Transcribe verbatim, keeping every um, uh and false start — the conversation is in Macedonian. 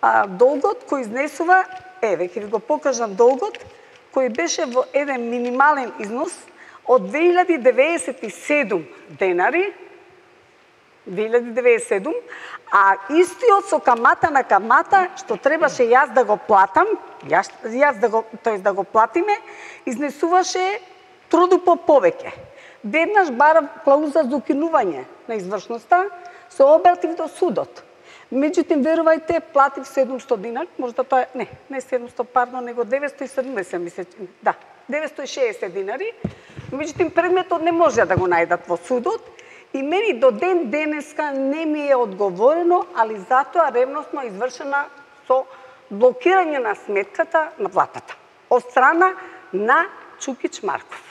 а, долгот кој изнесува, еве, ќе ви го покажам долгот, кој беше во еден минимален износ од две илјади девеесет и седум денари, две илјади девеесет и седум, а истиот со камата на камата, што требаше јас да го платам, јас, јас да го, тоест да го платиме, изнесуваше трудупо повеќе. Веднаш барав клауза за укинување на извршноста, се обратив до судот. Меѓутоа, верувајте, платив седумстотини динари, можда тоа е, не, не седумстотини, пардон, него деветстотини и седумдесет, мисля, да, деветстотини и шеесет динари. Меѓутоа, предметот не може да го најдат во судот и мене до ден денеска не ми е одговорено, али затоа ревностно извршена со блокирање на сметката на платата од страна на Чукич Марков.